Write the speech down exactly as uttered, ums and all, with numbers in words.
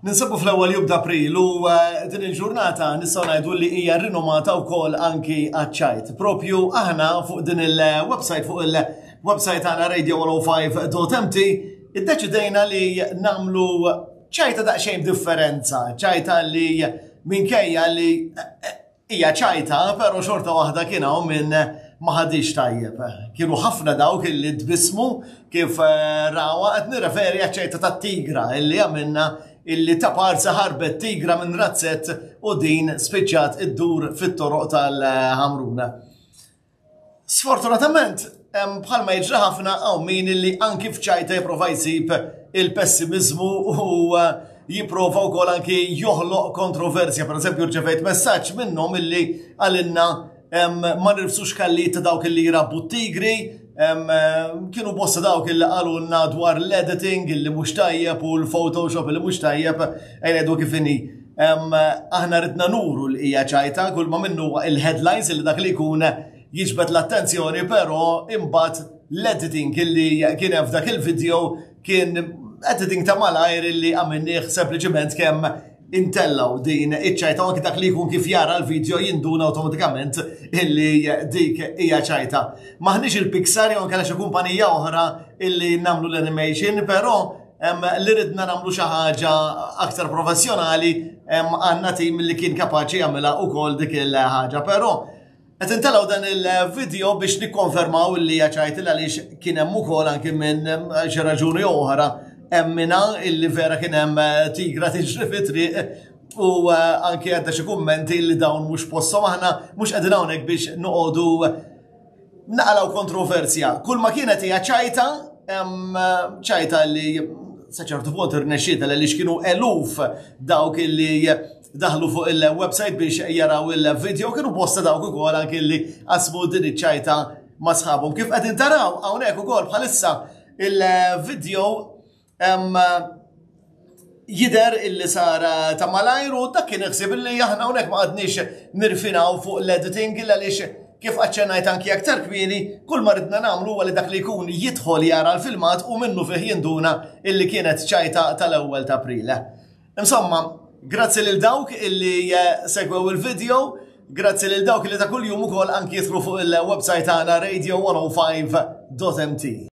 Ninsabu fl-ewwel jum d'April u eh, din il-ġurnata nistgħu ngħidu li hija rinomata wkoll anki għaċ-ċajt. Propju aħna fuq din il-website, fuq il-website tagħna radio one oh five dot M T, iddeċidejna li nagħmlu ċajta daqsxejn differenza, ċajta li minkejja li eh, hija ċajta, però xorta waħda kien hawn minn ma ħadix tajjeb. Kienu ħafna dawk illi tbismu kif eh, rawa. Qed nirreferi għaċ-ċajta tat-tigra illi għamilna, illi ta' parsa ħarbet tigra minn razzett u din spiċċat iddur fit-toroq tal-Ħamruna. Sfortunatament, bħalma jiġri ħafna, hawn min illi anki f'ċajta jipprova jsib il-pessimizmu u eh, jipprova wkoll anki joħloq kontroversja. Per eżempju, rċevejt messaġġ minnhom illi għalinna ma nirfsux kalli ta' dawk illi jrabbu tigri, kienu bosta dawk illi qalulna dwar l-editing illi mhux tajjeb u l-Photoshop illi mhux tajjeb. Ejja kif inhi. Aħna ridna nuru li hija ċajta, kull ma minnu il-headlines illi dak li jkun jiġbed l-attenzjoni, però imbagħad l-editing illi kien hemm f'dak il-video kien editing ta' malajr illi għamilnieh sempliċement kemm intellgħu din iċ-ċajta, anki dak li jkun kif jara l-video jinduna automatikament illi dik hija ċajta. Maħniex il-Pixar jew kellha xi kumpanija oħra illi nagħmlu l-animation, però li ridna nagħmlu xi ħaġa aktar professjonali, għandna tim li kien kapaċi jagħmilha ukoll dik il-ħaġa. Però qed intellgħu dan il-video biex nikkonfermaw li hija ċajta, għaliex kien hemm ukoll anki minn xi raġuni oħra emmina illi vera kien hemm eh, tigra tiġri fit-triq u eh, anki għadda xi kummenti li dawn mhux posthom. Aħna mhux qegħdin hawnhekk biex noqogħdu naqalgħu kontroversja. Kull ma kienet hija ċajta, ċajta li sa ċertu punt irnexxiet, li kienu eluf dawk illi daħlu fuq il-website biex jaraw il-video, kienu bosta dawk ukoll anki li qasmu din iċ-ċajta ma' sħabhom. Kif qegħdin taraw hawnhekk ukoll bħalissa il-video jider illi sar ta' malajr u dak kien ħsieb illi aħna hawnhekk ma qgħadniex nirfinaw fuq l-editing, għaliex kif aċċennajt anki aktar kmieni, kull ma ridna nagħmlu huwa li dak li jkun jidħol jara l-filmat u minnu fih jinduna illi kienet ċajta tal-ewwel ta' April. Insomma, grazzi lil dawk illi eh, segwew il-video, grazzi lil dawk illi ta' kuljum ukoll anki jidħlu fuq il-website tagħna radio one oh five dot M T.